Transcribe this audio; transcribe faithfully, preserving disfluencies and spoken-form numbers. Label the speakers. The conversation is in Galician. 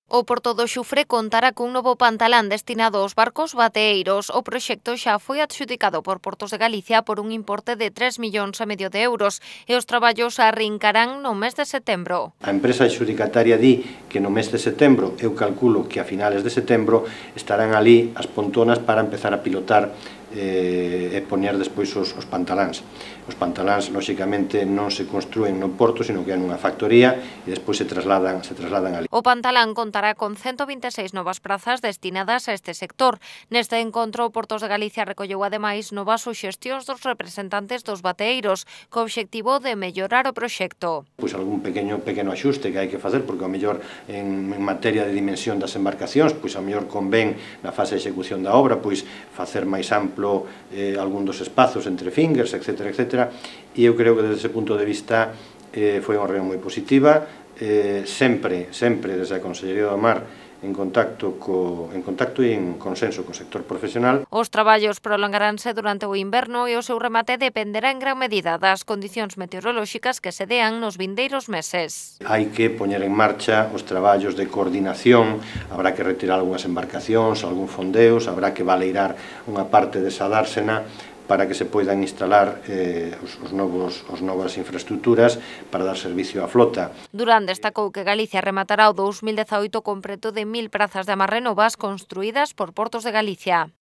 Speaker 1: O Porto do Xufre contará cun novo pantalán destinado aos barcos bateeiros. O proxecto xa foi adxudicado por Portos de Galicia por un importe de tres millóns e medio de euros e os traballos arrincarán no mes de setembro.
Speaker 2: A empresa adxudicataria di que no mes de setembro, eu calculo que a finales de setembro, estarán ali as pontonas para empezar a pilotar eh, e poñer despois os, os pantaláns. Os pantaláns, lóxicamente, non se construen no porto, sino que é nunha factoría e despois se trasladan, se trasladan ali.
Speaker 1: O pantalán contará con ciento vinte e seis novas prazas destinadas a este sector. Neste encontro, Portos de Galicia recolleu ademais novas suxestións dos representantes dos bateeiros, co obxectivo de mellorar o proxecto.
Speaker 2: Pois algún pequeno pequeno axuste que hai que facer, porque ao mellor en, en materia de dimensión das embarcacións, pois ao mellor convén na fase de execución da obra, pois facer máis amplo eh, algún dos espazos entre fingers, etcétera, etcétera. E eu creo que desde ese punto de vista eh, foi unha reunión moi positiva, eh, sempre, sempre desde a Consellería do Mar en contacto co, en contacto e en consenso co sector profesional.
Speaker 1: Os traballos prolongaránse durante o inverno e o seu remate dependerá en gran medida das condicións meteorolóxicas que se dean nos vindeiros meses.
Speaker 2: Hai que poñer en marcha os traballos de coordinación, habrá que retirar algunhas embarcacións, algún fondeos, habrá que baleirar unha parte desa dársena para que se poidan instalar eh, os, os novos, os novas infraestructuras para dar servicio á flota.
Speaker 1: Durán destacou que Galicia rematará o dous mil dezaoito con preto de mil prazas de amarre novas construídas por Portos de Galicia.